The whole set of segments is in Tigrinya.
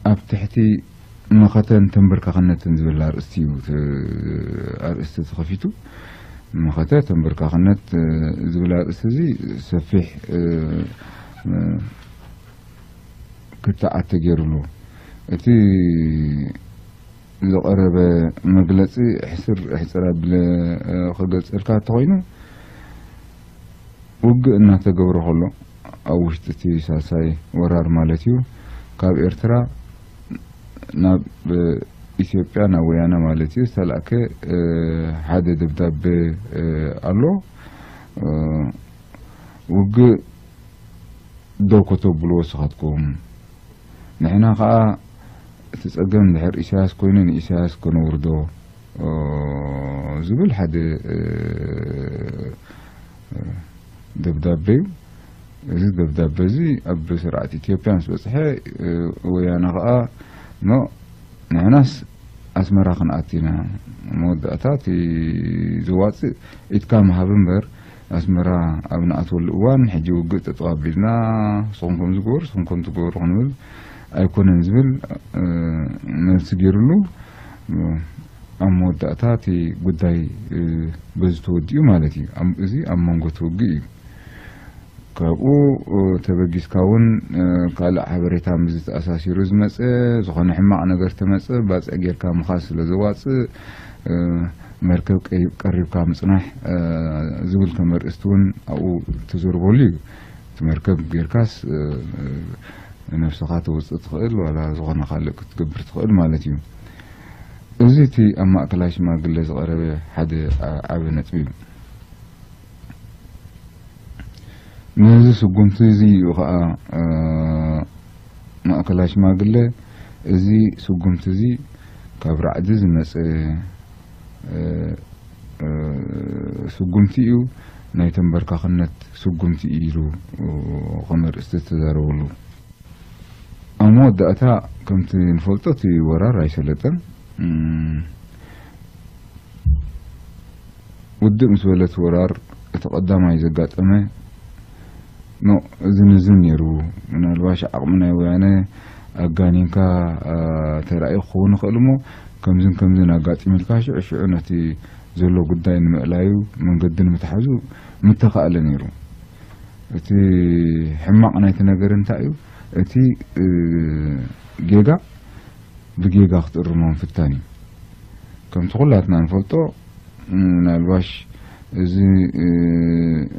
ኣብ ትሕቲ መኸተን ተንበርካኽነትን ዝብል ኣርእስቲ እዩ፣ እ፣ ኣርእስቲ ተኸፊቱ። መኸተ ተንበርካኽነት፣ እ፣ ዝብል ኣርእስቲ እዚ ሰፊሕ፣ እ፣ እ፣ ክትዓት ተገይሩሉ። እቲ ዝቐረበ መግለጺ ሕስር ሕጽር ኣቢለ፣ እ፣ ክገልጸልካ እንተኾይኑ፣ ውግእ እናተገብረ ከሎ፣ ኣብ ውሽጢ እቲ ሳልሳይ ወራር ማለት እዩ፣ ካብ ኤርትራ ናብ፣ እ፣ ኢትዮጵያ፣ ናብ ወያነ ማለት እዩ፣ ዝተላእከ፣ እ፣ ሓደ ደብዳቤ፣ እ፣ ኣሎ። እ፣ ውግእ ደው ከተብልዎ ንስኻትኩም፣ ንሕና ኸኣ እቲ ጸገም እንድሕር ኢሳያስ ኮይኑ ንኢሳያስ ከነውርዶ፣ እ፣ ዝብል ሓደ፣ እ፣ ደብዳበ እዩ። እዚ ደብዳበ እዚ ኣብ ስርዓት ኢትዮጵያ ምስ በጽሐ፣ እ፣ ወያነ ኸኣ፣ ኖ፣ ንሕናስ ኣስመራ ክንኣቱ ኢና። መወዳእታ እቲ ዘዋጽእ ኢድካ ምሃብ እምበር፣ ኣስመራ ኣብ ንኣትወሉ እዋን፣ ሕጂ ውግእ ጠጠው ኣቢልና፣ ንስኹም ከምዚ ግበሩ፣ ንስኹም ከምዚ ግበሩ ክንብል ኣይኮነን ዝብል፣ እ፣ መልሲ ገይሩሉ። ኣብ መወዳእታ እቲ ጉዳይ፣ እ፣ በዚ ተወዲኡ ማለት እዩ። ኣብ፣ እዚ ኣብ መንጎ እቲ ውግእ እዩ። ካብኡ፣ እ፣ ተበጊስካ እውን፣ እ፣ ካልእ ሓበሬታ ምስዚ ተኣሳሲሩ ዝመጸ፣ ዝኾነ ሕማቕ ነገር ተመጸ፣ ባጽዕ ጌርካ ምኻድ ስለ ዘዋጽእ፣ እ፣ መርከብ ቀይ-፣ ቀሪብካ ምጽናሕ፣ እ፣ ዝብል ከም ኣርእስቲ እውን ኣብኡ ተዘርበሉ እዩ። እቲ መርከብ ጌርካስ፣ እ፣ እ፣ ነብስኻ ተውጽእ ትኽእል፣ ዋላ ዝኾነ ካልእ ክትገብር ትኽእል ማለት እዩ። እዚ እቲ ኣብ ማእከላይ ሽማግለ ዝቐረበ ሓደ ዓ-፣ ዓቢ ነጥቢ እዩ። ነዚ ስጉምቲ እዚ እዩ ኸኣ፣ እ፣ ማእከላይ ሽማግለ፣ እዚ ስጉምቲ እዚ ካብ ራዕዲ ዝመጸ፣ እ፣ እ፣ ስጉምቲ እዩ፣ ናይ ተንበርካኽነት ስጉምቲ እዩ ኢሉ፣ እ፣ ከም ኣርእስቲ ዝተዛረበሉ። ኣብ መወዳእታ፣ ከምቲ ንፈልጦ፣ እቲ ወራር ኣይሰለጠን። እም፣ ውድእ ምስ በለት ወራር፣ እቲ ቀዳማይ ዘጋጠመ፣ ኖ፣ እዚ ንዝን ነይሩ። ምናልባሽ ዓቕሚ ናይ ወያነ ኣጋኒንካ፣ አ፣ ተራእዩ ክኸውን ይኽእል እሞ፣ ከምዝን ከምዝን ኣጋጢሙ ኢልካ ሽዑ ሽዑ ነቲ ዘሎ ጉዳይ ንምእላዩ መንገዲ ንምትሓዙ ምተኻእለ ነይሩ። እቲ ሕማቕ ናይቲ ነገር እንታይ እዩ? እቲ፣ እ፣ ጌጋ ብጌጋ ክትእርሞ ምፍታን እዩ። ከምቲ ኩላትና ንፈልጦ፣ ም፣ ምናልባሽ እዚ፣ እ፣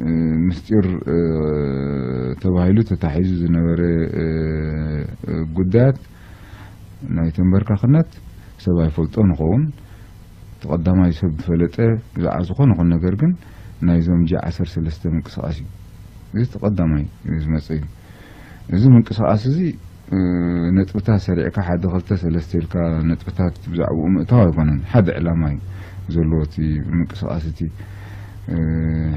እ፣ ምስጢር፣ እ፣ ተባሂሉ ተታሒዙ ዝነበረ፣ እ፣ እ፣ ጉዳያት ናይ ተንበርካኽነት ሰብ ኣይፈልጦ ንኸውን። እቲ ቀዳማይ ሰብ ዝፈለጠ ብዛዕባ ዝኾነ ይኹን ነገር ግን ናይዞም ጂ ዓሰርተ ሰለስተ ምንቅስቓስ እዩ። እዚ እቲ ቀዳማይ ዝመጽእ እዩ። እዚ ምንቅስቓስ እዚ፣ እ፣ ነጥብታት ሰሪዕካ ሓደ ክልተ ሰለስተ ኢልካ ነጥብታት ብዛዕባኡ ምእታው ኣይኮነን። ሓደ ዕላማ እዩ ዘለዎ እቲ ምንቅስቓስ እቲ። እ፣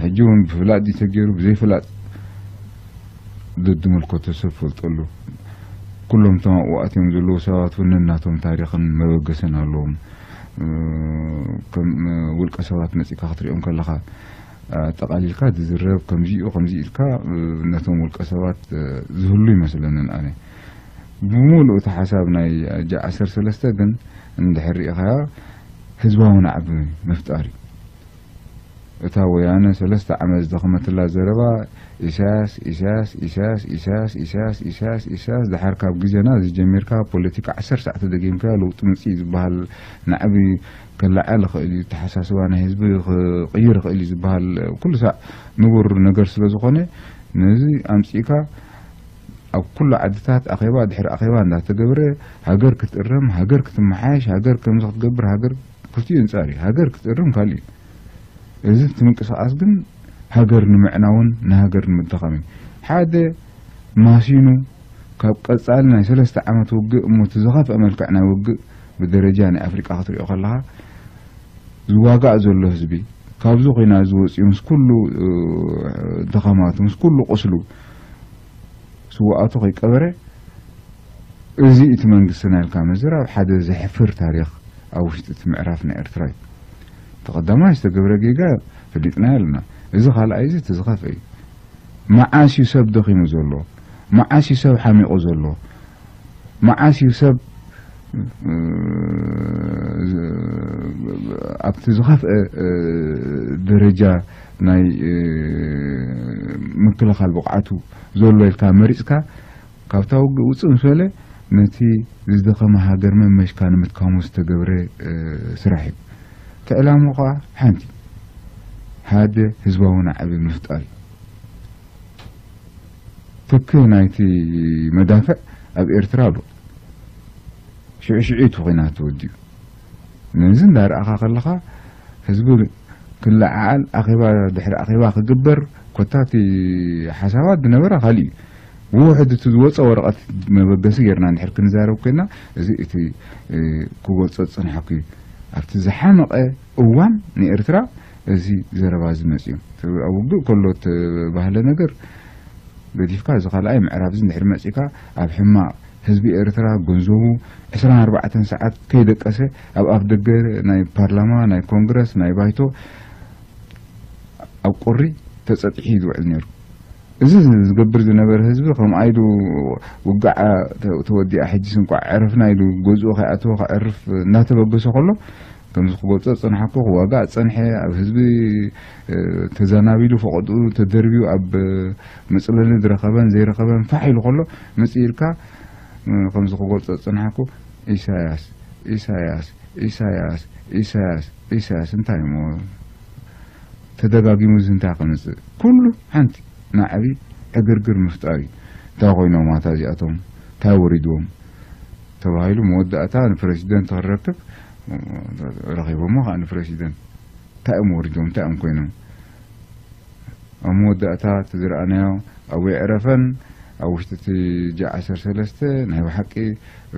ሕጂ እውን ብፍላጥ ድዩ ተገይሩ ብዘይፍላጥ ደድምልከቶ ሰብ ፈልጠሉ። ኩሎም እቶም ኣብኡ ኣትዮም ዘለዉ ሰባት እውን ነናቶም ታሪኽን መበገስን ኣለዎም። እ፣ ከም፣ እ፣ ውልቀ ሰባት መጺእካ ክትሪኦም ከለኻ፣ ኣጠቓሊልካ ዝዝረብ ከምዚ እዩ፣ ከምዚ ኢልካ፣ እ፣ ነቶም ውልቀ ሰባት፣ እ፣ ዝህሉ ይመስለንን ኣነ። ብምሉእ እቲ ሓሳብ ናይ ጂ ዓሰርተ ሰለስተ ግን እንድሕር ርኢኻያ ህዝባዊ ናዕቢ ምፍጣር እዩ። እታ ወያነ ሰለስተ ዓመት ዝደኸመትላ ዘረባ ኢሳያስ፣ ኢሳያስ፣ ኢሳያስ፣ ኢሳያስ፣ ኢሳያስ፣ ኢሳያስ፣ ኢሳያስ፣ ደሓር ካብ ግዜና ዝጀሚርካ ፖለቲካ ዓሰርተ ሰዓት ተደጊምካዮ ለውጢ ምጽእ እዩ ዝበሃል ናዕቢ ከለዓዕል ይኽእል እዩ፣ ኣተሓሳስባ ናይ ህዝቢ ክቕይር ይኽእል እዩ ዝበሃል ኩሉ ሳዕ ንቡር ነገር ስለ ዝኾነ፣ ነዚ ኣምጺእካ ኣብ ኩሉ ዓድታት ኣኼባ ድሕሪ ኣኼባ እንዳተገብረ፣ ሃገር ክትእረም፣ ሃገር ክትመሓየሽ፣ ሃገር ከምዚ ክትገብር፣ ሃገር ክልቲኡ ኣንጻር እዩ። ሃገር ክትእረም ካልእ እዩ። እዚ እቲ ምንቅስቓስ ግን ሃገር ንምዕናውን ንሃገር ንምድኻምን እዩ። ሓደ ማሲኑ ካብ ቀጻሊ ናይ ሰለስተ ዓመት ውግእ እሞ እቲ ዝኸፍአ መልክዕ ናይ ውግእ ብደረጃ ናይ ኣፍሪቃ ክትሪኦ ከለኻ ዝዋጋእ ዘሎ ህዝቢ ካብዚ ኹናት እዚ ወጺኡ ምስ ኩሉ፣ እ፣ ድኻማቱ ምስ ኩሉ ቁስሉ ስውኣቱ ከይቀበረ፣ እዚ እቲ መንግስትና ኢልካ ምዝራብ ሓደ ዘሕፍር ታሪኽ ኣብ ውሽጢ እቲ ምዕራፍ ናይ ኤርትራ እዩ። እቲ ቀዳማይ ዝተገብረ ጌጋ ፈሊጥናዮ ኣለና። እዚ ካልኣይ እዚ እቲ ዝኸፍአ እዩ። መዓስ እዩ ሰብ ደኺሙ ዘሎ? መዓስ እዩ ሰብ ሓሚቑ ዘሎ? መዓስ እዩ ሰብ ኣብቲ ዝኸፍአ ደረጃ ናይ ምክልኻል ብቕዓቱ ዘሎ ኢልካ መሪፅካ ካብታ ውግእ ውፅእ ምስ በለ ነቲ ዝደኸመ ሃገር መመሽካ ንምትካሙ ዝተገብረ ስራሕ እዩ። እቲ ዕላማ ከዓ ሓንቲ ሓደ ህዝባዊ ናዕቢ ምፍጣር እዩ። ትኪ ናይቲ መዳፍዕ ኣብ ኤርትራ ኣሎ። ሽዑ ሽዑ እቲ ኹናት ተወዲኡ። ነዚ እንዳረኣኻ ከለኻ ህዝቢ ክለዓዓል ኣኼባ ድሕሪ ኣኼባ ክግበር ኮታ እቲ ሓሳባት ዝነበረ ካሊእ እዩ። ብውሕድ እቲ ዝወፀ ወረቐት መበገሲ ጌርና እንድሕር ክንዛረብ ኮይና እዚ እቲ ክገልፆ ዝፀንሓኩ እዩ። ኣብቲ ዝሓመቐ እዋን ንኤርትራ እዚ ዘረባ እዚ መፅኡ። ኣብ ውግእ ከሎ እተባህለ ነገር ገዲፍካ እዚ ካልኣይ ምዕራብ እዚ እንድሕር መፂእካ ኣብ ሕማቕ ህዝቢ ኤርትራ ገንዘቡ ዕስራን ኣርባዕተን ሰዓት ከይደቀሰ ኣብ ኣፍ ደገ ናይ ፓርላማ ናይ ኮንግረስ ናይ ባይቶ ኣብ ቁሪ ተፀጢሑ እዩ ዝውዕል ነይሩ። እዚ ዝገብር ዝነበረ ህዝቢ ከም ኣይዱ ውግዓ ተወዲኣ ሕጂስ እንቋዕ ዕረፍና ኢሉ ገዝኡ ከይኣተወ ከዕርፍ እናተበገሰ ከሎ ከምዚ ክገልጾ ዝጸናሕኩ ክዋጋእ ዝጸንሐ ኣብ ህዝቢ ተዘናቢሉ ፈቐድኡ ተደርብዩ ኣብ መጽለሊ ዝረኸበን ዘይረኸበን ፋሕ ኢሉ ከሎ መጽእ ኢልካ ከምዚ ክገልጾ ዝጸናሕኩ ኢሳያስ ኢሳያስ ኢሳያስ ኢሳያስ ኢሳያስ እንታይ እሞ ተደጋጊሙ እዚ እንታይ ከምጽእ ኩሉ ሓንቲ ናዕቢ ዕግርግር ምፍጣር እዩ። እንታይ ኮይኖም ኣታ እዚኣቶም እንታይ ወሪድዎም ተባሂሉ መወዳእታ ንፕረዚደንት ክረክብ ረኺቦሞ ከዓ ንፕረዚደንት እንታይ እዮም ወሪዶም እንታይ እዮም ኮይኖም ኣብ መወዳእታ እቲ ዝረኣናዮ ኣብኡ የዕረፈን ኣብ ውሽጢ እቲ ጃ ዓሰርተ ሰለስተ ናይ ብሓቂ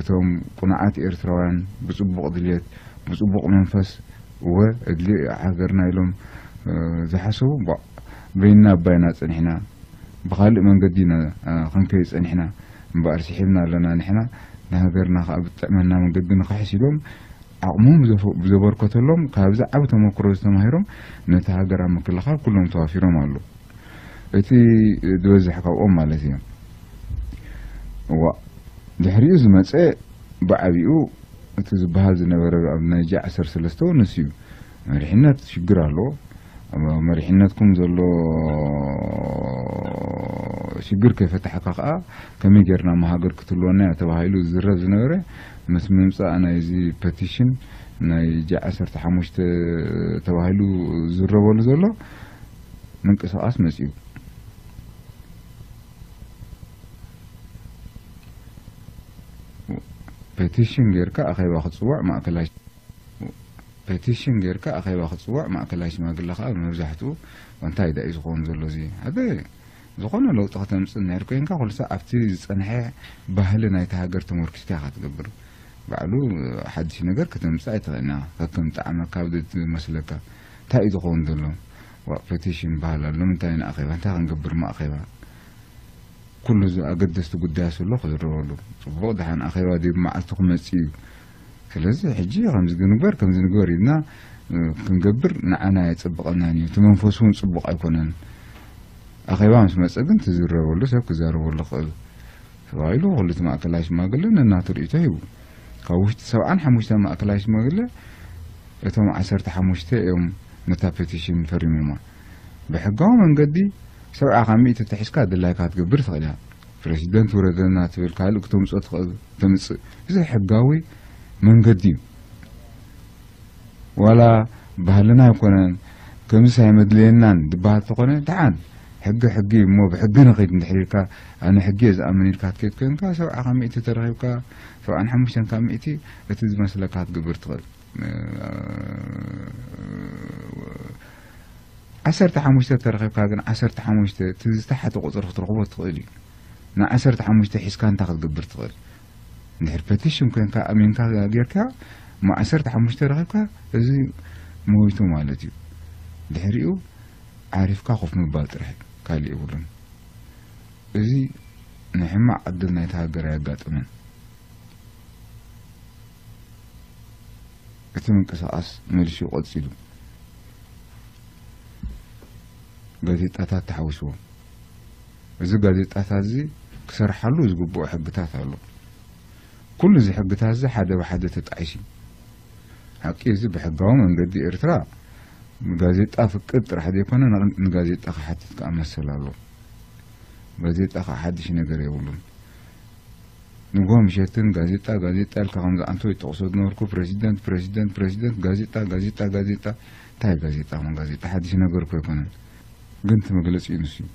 እቶም ቁኑዓት ኤርትራውያን ብፅቡቕ ድልየት ብፅቡቕ መንፈስ እወ እድሊ ሃገርና ኢሎም ዝሓሰቡ በይንና ኣባይና ፀኒሕና ብካልእ መንገዲ ኢና ክንከይድ ፀኒሕና እምበኣር ስሒብና ኣለና ንሕና ንሃገርና ከዓ ብጥዕመና መንገዲ ንክሕስ ኢሎም ዓቕሞም ብዘበርከተሎም ካብዚ ዓቢ ተመክሮ ዝተማሂሮም ነቲ ሃገር ኣብ ምክልኻል ኩሎም ተዋፊሮም ኣለዉ። እቲ ዝበዝሕ ካብኦም ማለት እዩ። እዋ ድሕሪኡ ዝመፀ ብዓቢኡ እቲ ዝበሃል ዝነበረ ኣብ ናይ ጂ ዓሰርተ ሰለስተ እውን ንሱ እዩ። መሪሕነት ሽግር ኣለዎ። ኣብ መሪሕነትኩም ዘሎ ሽግር ከይፈታሕካ ከዓ ከመይ ጌርና መሃገር ክትህልወና እያ ተባሂሉ ዝዝረብ ዝነበረ ምስ ምምፃእ ናይዚ ፐቲሽን ናይ ጂ ዓሰርተ ሓሙሽተ ተባሂሉ ዝዝረበሉ ዘሎ ምንቅስቃስ መፅኡ። ፔቲሽን ጌርካ ኣኼባ ክትፅዋዕ ማእከላይ ፔቲሽን ጌርካ ኣኼባ ክትፅዋዕ ማእከላይ ሽማግለ ከዓ መብዛሕትኡ እንታይ ዳ እዩ ዝኸውን ዘሎ እዚ ሓደ ዝኾነ ለውጢ ከተምፅእ እንድሕር ኮይንካ ኩሉ ሰብ ኣብቲ ዝፀንሐ ባህሊ ናይቲ ሃገር ተመርኪስካ ኢኻ ትገብር ባዕሉ ሓድሽ ነገር ከተምፅእ ኣይትኽእልና ከከም ጣዕመካ ዝመስለካ እንታይ እዩ ዝኸውን ዘሎ ዋ ፔቲሽን በሃል ኣሎ ንምንታይ ንኣኼባ እንታይ ክንገብር ማእኼባ ኩሉ ኣገደስቲ ጉዳያት ዘሎ ክዝረበሉ ፅቡቕ ደሓን ኣኼባ ድዩ መዓልቱ ክመፅእ እዩ ስለዚ ሕጂ ከምዚ ግንግበር ከምዚ ንግበር ኢልና ክንገብር ንዓና ኣየፀብቐናን እዩ እቲ መንፈሱ እውን ፅቡቕ ኣይኮነን ኣኼባ ምስ መፀ ግን ትዝረበሉ ሰብ ክዛረበሉ ክእል ተባሂሉ ኩሉ እቲ ማእከላይ ሽማግለ ነናቱ ርእይቶ ሂቡ ካብ ውሽጢ ሰብዓን ሓሙሽተን ማእከላይ ሽማግለ እቶም ዓሰርተ ሓሙሽተ እዮም ነታ ፔቲሽን ፈሪሞማ ብሕጋዊ መንገዲ ሰብዓ ካብ ሚእቲ ተሒዝካ ድላይካ ክትገብር ትኽእል እያ ፕረሲደንት ውረደልና ትብል ካልእ ክተምፅኦ ትኽእል ተምፅእ እዚ ሕጋዊ መንገዲ እዩ ዋላ ባህልና ኣይኮነን ከምዚስ ኣይመድለየናን ዝበሃል ተኾነ ደሓን ሕጊ ሕጊ እሞ ብሕጊ ንኺድ እንድሕር ኢልካ ኣነ ሕጊ እየ ዝኣምን ኢልካ ክትከይድ ኮይንካ ሰብዓ ካብ ሚእቲ ተረኺብካ ሰብዓን ሓሙሽተን ካብ ሚእቲ እቲ ዝመስለካ ክትገብር ትኽእል ዓሰርተ ሓሙሽተ ተረኺብካ ግን ዓሰርተ ሓሙሽተ እቲ ዝተሓተ ቁፅሪ ክትረኽቦ ትኽእል እዩ ንዓሰርተ ሓሙሽተ ሒዝካ እንታይ ክትገብር ትኽእል እንድሕር ፐቲሽን ኮይንካ ኣሚንካ ጌርካ እሞ ዓሰርተ ሓሙሽተ ረኺብካ እዚ ሞይቱ ማለት እዩ ድሕሪኡ ዓሪፍካ ኮፍ ምባል ጥራሕ ካልእ የብሉን እዚ ንሕማቕ ዕድል ናይቲ ሃገር ኣየጋጥምን እቲ ምንቅስቓስ መሊሹ ቀፂሉ ጋዜጣታት ተሓዊስዎ እዚ ጋዜጣታት እዚ ክሰርሓሉ ዝግብኦ ሕግታት ኣሎ ኩሉ እዚ ሕግታት እዚ ሓደ ብሓደ ተጣዒሱ እዩ። ሓቂ እዚ ብሕጋዊ መንገዲ ኤርትራ ንጋዜጣ ፍቅድ ጥራሕ ዘይኮነ ን-፣ ንጋዜጣ ክሓትት ከኣ መሰል ኣሎ። ጋዜጣ ከኣ ሓድሽ ነገር የብሉን። ንግሆ ምሸትን ጋዜጣ፣ ጋዜጣ ኢልካ ከምዚ ኣንተ ይጠቕሶ ዝነበርኩ ፕረዚደንት፣ ፕረዚደንት፣ ፕረዚደንት፣ ጋዜጣ፣ ጋዜጣ፣ ጋዜጣ። እንታይ ጋዜጣ? ምን ጋዜጣ ሓድሽ ነገር እኮ ኣይኮነን። ግን እቲ መግለጺ እዩ ንሱ እዩ።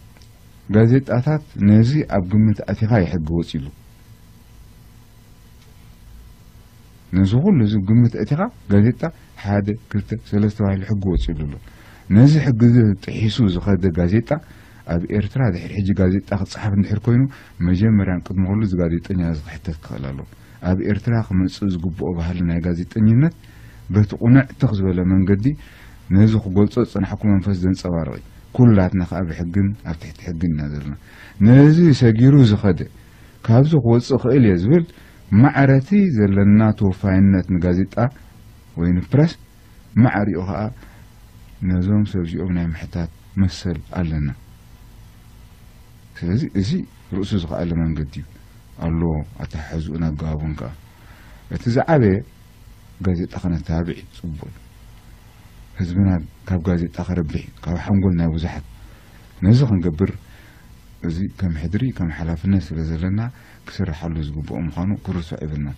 ጋዜጣታት ነዚ ኣብ ግምት ኣቲኻ እዩ ሕጊ ወጺሉ። ነዚ ኩሉ እዚ ግምት ኣቲኻ ጋዜጣ ሓደ፣ ክልተ፣ ሰለስተ ተባሂሉ ሕጊ ወጺሉ ኣሎ። ነዚ ሕጊ እዚ ጥሒሱ ዝኸደ ጋዜጣ ኣብ ኤርትራ ድሕሪ ሕጂ ጋዜጣ ክጸሓፍ እንድሕር ኮይኑ መጀመርያን ቅድሚ ኩሉ እዚ ጋዜጠኛ እዚ ክሕተት ክኽእል ኣለዎ። ኣብ ኤርትራ ክመጽእ ዝግብኦ ባህሊ ናይ ጋዜጠኝነት በቲ ቁንዕ ትኽ ዝበለ መንገዲ ነዚ ክገልጾ ዝጸናሕኩ መንፈስ ዘንጸባርቕ እዩ። ኩላትና ከኣ ብሕግን ኣብ ትሕቲ ሕግን ኢና ዘለና። ነዚ ሰጊሩ ዝኸደ ካብዚ ክወጽእ ክእል እየ ዝብል ማዕረቲ ዘለና ተወፋይነት ንጋዜጣ ወይ ንፕረስ ማዕሪኡ ከኣ ነዞም ሰብ እዚኦም ናይ ምሕታት መሰል ኣለና። ስለዚ እዚ ርእሱ ዝኸኣለ መንገዲ እዩ ኣሎ። ኣተሓሕዝኡን ኣገባቡን ከኣ እቲ ዝዓበየ ጋዜጣ ከነተባብዕ እዩ ጽቡቕ እዩ። ህዝብና ካብ ጋዜጣ ከረብሕ እዩ፣ ካብ ሓንጎል ናይ ብዙሓት። ነዚ ክንገብር እዚ ከም ሕድሪ ከም ሓላፍነት ስለ ዘለና ክስርሓሉ ዝግብኦ ምዃኑ ክርሳዕ የብልናን።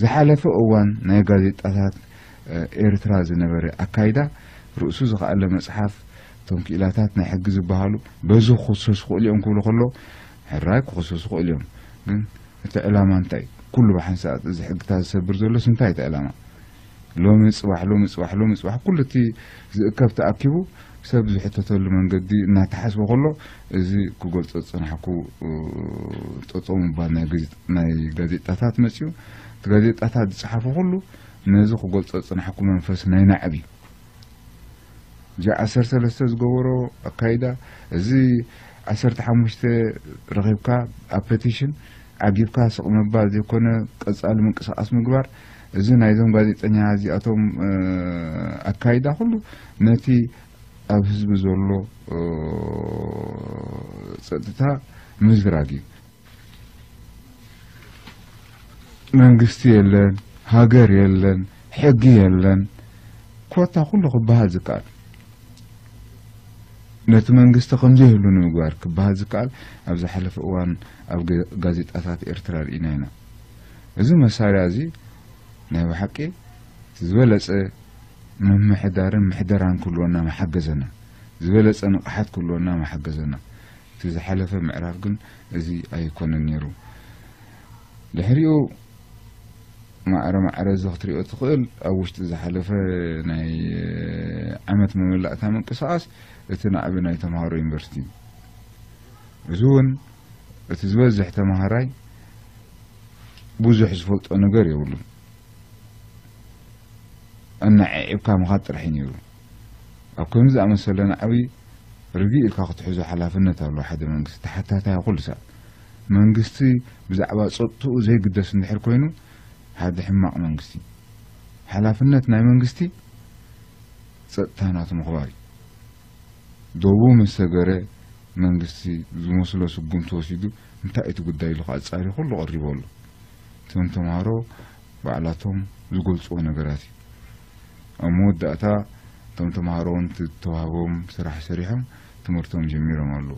ዝሓለፈ እዋን ናይ ጋዜጣታት ኤርትራ ዝነበረ ኣካይዳ ርእሱ ዝኸኣለ መጽሓፍ፣ እቶም ክኢላታት ናይ ሕጊ ዝበሃሉ በዚ ክኽሰሱ ክኽእሉ እዮም ክብሉ ከለዉ ሕራይ ክኽሰሱ ክኽእሉ እዮም። ግን እቲ ዕላማ እንታይ? ኩሉ ብሓንሳእ እዚ ሕግታት ዝሰብር ዘሎስ እንታይ እቲ ዕላማ? ሎሚ ጽባሕ ሎሚ ጽባሕ ሎሚ ጽባሕ ኩሉ እቲ ዝእከብ ተኣኪቡ ሰብ ዝሕተተሉ መንገዲ እናተሓስበ ከሎ እዚ ክገልጾ ዝጸናሕኩ ጠጠው ምባል ናይ ጋዜጣታት መጽዩ። እቲ ጋዜጣታት ዝጸሓፉ ኩሉ ነዚ ክገልጾ ዝጸናሕኩ መንፈስ ናይ ናዕቢ እዚ ዓሰርተ ሰለስተ ዝገበሮ ኣካይዳ፣ እዚ ዓሰርተ ሓሙሽተ ረኺብካ ኣብ ፐቲሽን ዓጊብካ ስቕ ምባል ዘይኮነ ቀጻሊ ምንቅስቓስ ምግባር፣ እዚ ናይዞም ጋዜጠኛ እዚኣቶም ኣካይዳ ኩሉ ነቲ ኣብ ህዝቢ ዘሎ ጸጥታ ምዝራግ እዩ። መንግስቲ የለን፣ ሃገር የለን፣ ሕጊ የለን። ኮታ ኩሉ ክበሃል ዝከኣል ነቲ መንግስቲ ከምዘይህሉ ንምግባር ክበሃል ዝከኣል ኣብ ዝሓለፈ እዋን ኣብ ጋዜጣታት ኤርትራ ርኢና ኢና። እዚ መሳርያ እዚ ናይ ብሓቂ ዝበለጸ ምምሕዳርን ምሕደራን ክህልወና መሓገዘና፣ ዝበለጸ ንቕሓት ክህልወና መሓገዘና። እቲ ዝሓለፈ ምዕራፍ ግን እዚ ኣይኮነን ነይሩ። ድሕሪኡ ማዕረ ማዕረ እዚ ክትሪኦ ትኽእል ኣብ ውሽጢ ዝሓለፈ ናይ ዓመት መመላእታ ምንቅስቓስ እቲ ናዕቢ ናይ ተምሃሮ ዩኒቨርሲቲ እዩ። እዚ እውን እቲ ዝበዝሕ ተምሃራይ ብዙሕ ዝፈልጦ ነገር የብሉን። ኣነዓዒብካ ምኻድ ጥራሕ እዩ ነይሩ። ኣብ ከምዚ ዝኣመሰለ ናዕቢ ርግእ ኢልካ ክትሕዞ ሓላፍነት ኣለዎ ሓደ መንግስቲ፣ ተሓታታይ ኩሉ ሰብ። መንግስቲ ብዛዕባ ጸጥትኡ ዘይግደስ እንድሕር ኮይኑ ሓደ ሕማቕ መንግስቲ። ሓላፍነት ናይ መንግስቲ ጸጥታ ናቱ ምኽባር እዩ። ዶቡ ምስ ሰገረ መንግስቲ ዝመስሎ ስጉምቲ ወሲዱ እንታይ እቲ ጉዳይ ኢሉ ኣጻሪ ኩሉ ቀሪቡ ኣሎ። እቶም ተምሃሮ ባዕላቶም ዝገልጽዎ ነገራት እዩ። ኣብ መወዳእታ እቶም ተምሃሮ እውን እቲ ዝተዋህቦም ስራሕ ሰሪሖም ትምህርቶም ጀሚሮም ኣለዉ።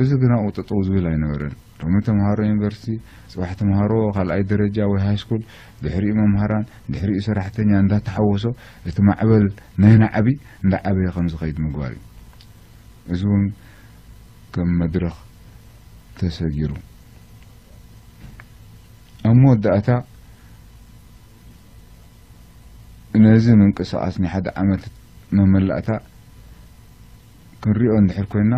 እዚ ግን ኣብኡ ጠጠው ዝብል ኣይነበረን። ሎሚ ተምሃሮ ዩኒቨርሲቲ፣ ጽባሕ ተምሃሮ ካልኣይ ደረጃ ወይ ሃይስኩል፣ ድሕሪኡ መምሃራን፣ ድሕሪኡ ሰራሕተኛ እንዳተሓወሶ እቲ ማዕበል ናይ ናዕቢ እንዳዓበየ ከም ዝኸይድ ምግባር እዩ። እዚ እውን ከም መድረኽ ተሰጊሩ። ኣብ መወዳእታ ነዚ ምንቅስቓስ ናይ ሓደ ዓመት መመላእታ ክንሪኦ እንድሕር ኮይና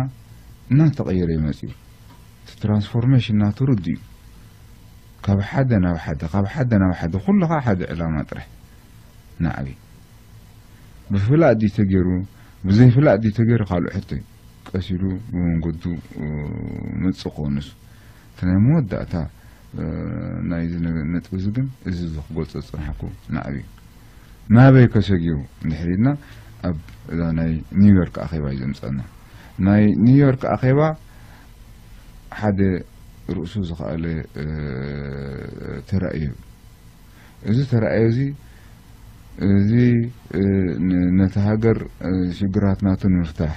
እናተቐየረ እዩ መፂኡ። እቲ ትራንስፎርሜሽን ናቱ ርዱ እዩ። ካብ ሓደ ናብ ሓደ፣ ካብ ሓደ ናብ ሓደ፣ ኩሉ ከዓ ሓደ ዕላማ ጥራሕ ናዕቢ። ብፍላጥ ድዩ ተገይሩ፣ ብዘይፍላጥ ድዩ ተገይሩ ካልእ ሕቶ እዩ። ቀስ ኢሉ ብመንገዱ መጽእ ክኾን ንሱ። እቲ ናይ መወዳእታ ናይዚ ነጥቢ እዚ ግን እዚ ክገልጾ ዝጸናሕኩ ናዕቢ እዩ። ናበይ ከሰጊሩ እንድሕር ኢልና ኣብ እዛ ናይ ኒውዮርክ ኣኼባ እዩ ዘምጸና። ናይ ኒውዮርክ ኣኼባ ሓደ ርእሱ ዝኸኣለ ተራእዮ። እዚ ተራእዮ እዚ እዚ ነቲ ሃገር ሽግራትናቱ ንምፍታሕ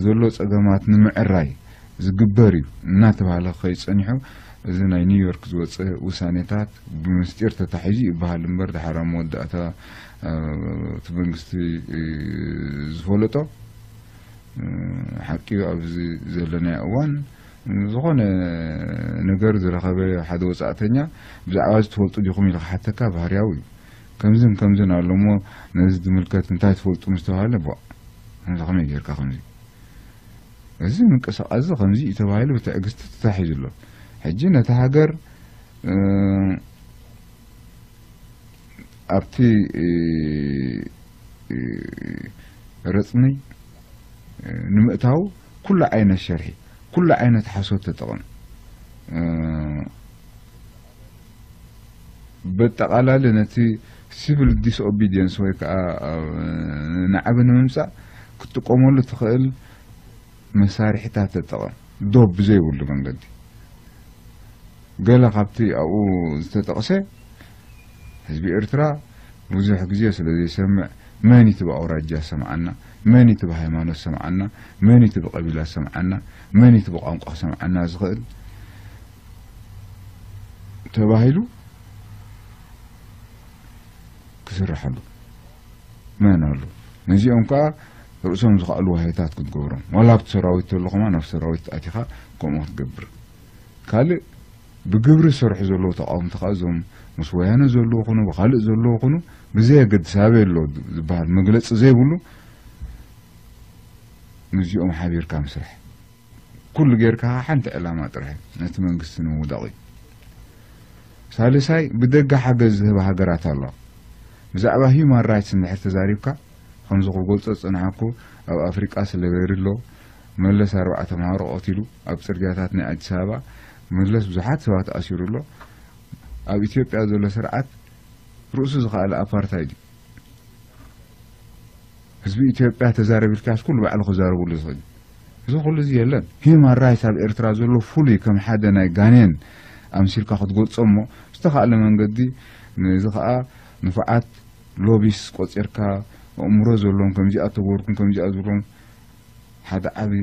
ዘሎ ጸገማት ንምዕራይ ዝግበር እዩ እናተባህለ ከይጸኒሑ፣ እዚ ናይ ኒውዮርክ ዝወፀ ውሳኔታት ብምስጢር ተታሒዙ ይበሃል እምበር፣ ድሓር ኣብ መወዳእታ እቲ መንግስቲ ዝፈለጦ ሓቂ እዩ። ኣብዚ ዘለናዮ እዋን ዝኾነ ነገር ዝረኸበ ሓደ ወጻእተኛ ብዛዕባ እዚ ትፈልጡ ዲኹም ኢሉ ክሓተካ ባህርያዊ እዩ። ከምዝን ከምዝን ኣሎ እሞ ነዚ ዝምልከት እንታይ ትፈልጡ ምስ ተባሃለ፣ ቦ ከምዚ ከመይ ጌርካ ከምዚ፣ እዚ ምንቅስቃስ እዚ ከምዚ እዩ ተባሂሉ ብትዕግስቲ ተታሒዙ ኣሎ። ሕጂ ነቲ ሃገር ኣብቲ ረፅኒ ንምእታው ኩሉ ዓይነት ሸርሒ፣ ኩሉ ዓይነት ሓሶት ተጠቐም። በጠቓላሊ ነቲ ሲቪል ዲስኦቢዲየንስ ወይ ከዓ ናዕቢ ንምምፃእ ክትጥቀመሉ ትኽእል መሳርሒታት ተጠቐም፣ ዶብ ብዘይብሉ መንገዲ። ገለ ካብቲ ኣብኡ ዝተጠቕሰ ህዝቢ ኤርትራ ብዙሕ ግዜ ስለ ዘይሰምዕ፣ መን እቲ ብኣውራጃ ሰምዓና፣ መን እቲ ብሃይማኖት ሰምዓና፣ መን እቲ ብቀቢላ ሰምዓና፣ መን እቲ ብቋንቋ ሰምዓና ዝኽእል ተባሂሉ ክስርሐሉ መን ኣሎ? ነዚኦም ከኣ ርእሶም ዝኸኣሉ ዋህዮታት ክትገብሮም፣ ዋላ ኣብቲ ሰራዊት ተሎ ከማን ኣብ ሰራዊት ኣቲኻ ከምኡ ክትገብር። ካልእ ብግብሪ ዝሰርሑ ዘለዉ ተቃወምቲ ከኣ እዞም ምስ ወያነ ዘለዉ ኩኑ ብኻልእ ዘለዉ ኩኑ ብዘየገድስ ኣበይ ኣሎ ዝበሃል መግለጺ ዘይብሉ ምስዚኦም ሓቢርካ ምስራሕ። ኩሉ ጌርካ ሓንቲ ዕላማ ጥራሕ ነቲ መንግስቲ ንምውዳቕ እዩ። ሳልሳይ ብደገ ሓገዝ ዝህባ ሃገራት ኣለዋ። ብዛዕባ ሂዩማን ራይትስ እንድሕር ተዛሪብካ ከምዚ ክገልጾ ዝጸናሕኩ ኣብ ኣፍሪቃ ስሌቨሪ ኣሎ። መለስ ኣርባዕተ ተምሃሮ ቀቲሉ ኣብ ጽርግያታት ናይ ኣዲስ ኣበባ መለስ ብዙሓት ሰባት ኣሲሩ ኣሎ። ኣብ ኢትዮጵያ ዘሎ ስርዓት ርእሱ ዝኸኣለ ኣፓርታይድ እዩ። ህዝቢ ኢትዮጵያ ተዛረብ ኢልካስ ኩሉ ባዕሉ ክዛረብሉ ዝኽእል እዩ። እዚ ኩሉ እዚ የለን። ሂዩማን ራይትስ ኣብ ኤርትራ ዘሎ ፍሉይ ከም ሓደ ናይ ጋኔን ኣምሲልካ ክትገልጾ እሞ ዝተኻእለ መንገዲ ነዚ ኸኣ ንፉዓት ሎቢስ ቆጺርካ ኣእምሮ ዘለዎም ከምዚኣ ተገበርኩም ከምዚኣ ዝብሎም ሓደ ዓቢ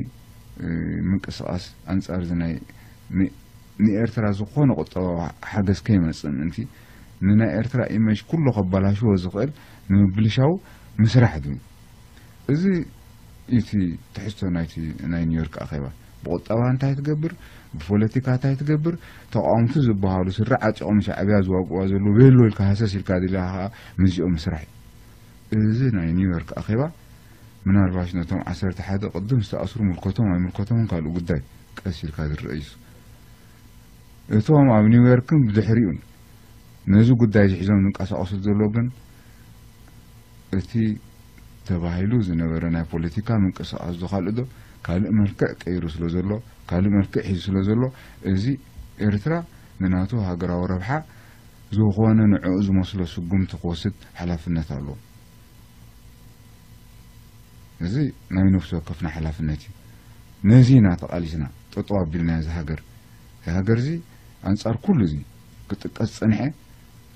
ምንቅስቃስ ኣንጻር እዚ ናይ ንኤርትራ ዝኾነ ቁጠባዊ ሓገዝ ከይመጽእ ምእንቲ ንናይ ኤርትራ ኢመጅ ኩሎ ከባላሽዎ ዝኽእል ንምብልሻው ምስራሕ ድዩ? እዚ እቲ ትሕዝቶ ናይቲ ናይ ኒውዮርክ ኣኼባ። ብቁጠባ እንታይ ትገብር፣ ብፖለቲካ እንታይ ትገብር፣ ተቃወምቲ ዝበሃሉ ስሪ ዓጢቖም ሻዕብያ ዝዋግእዋ ዘለዉ ቤሎ ኢልካ ሃሰስ ኢልካ ድልያ ከዓ ምስዚኦም ምስራሕ እዩ። እዚ ናይ ኒውዮርክ ኣኼባ ምናልባሽ ነቶም ዓሰርተ ሓደ ቅድም ዝተኣስሩ ምልከቶም ኣይምልከቶምን ካልእ ጉዳይ ቀስ ኢልካ ዝረአ እዩ። እቶም ኣብ ኒውዮርክን ብድሕሪኡን ነዚ ጉዳይ እዚ ሒዞም ዝንቀሳቐሱ ዘለዉ ግን እቲ ተባሂሉ ዝነበረ ናይ ፖለቲካ ምንቅስቃስ ዶ ካልእ ዶ ካልእ መልክዕ ቀይሩ ስለ ዘሎ ካልእ መልክዕ ሒዙ ስለ ዘሎ እዚ ኤርትራ ንናቱ ሃገራዊ ረብሓ ዝኾነ ንዕኡ ዝመስሎ ስጉምቲ ክወስድ ሓላፍነት ኣለዎ። እዚ ናይ ነፍሲ ወከፍና ሓላፍነት እዩ። ነዚ ኢና ተቓሊስና ጠጠው ኣቢልና እዚ ሃገር። እዚ ሃገር እዚ ኣንጻር ኩሉ እዚ ክጥቀስ ዝጸንሐ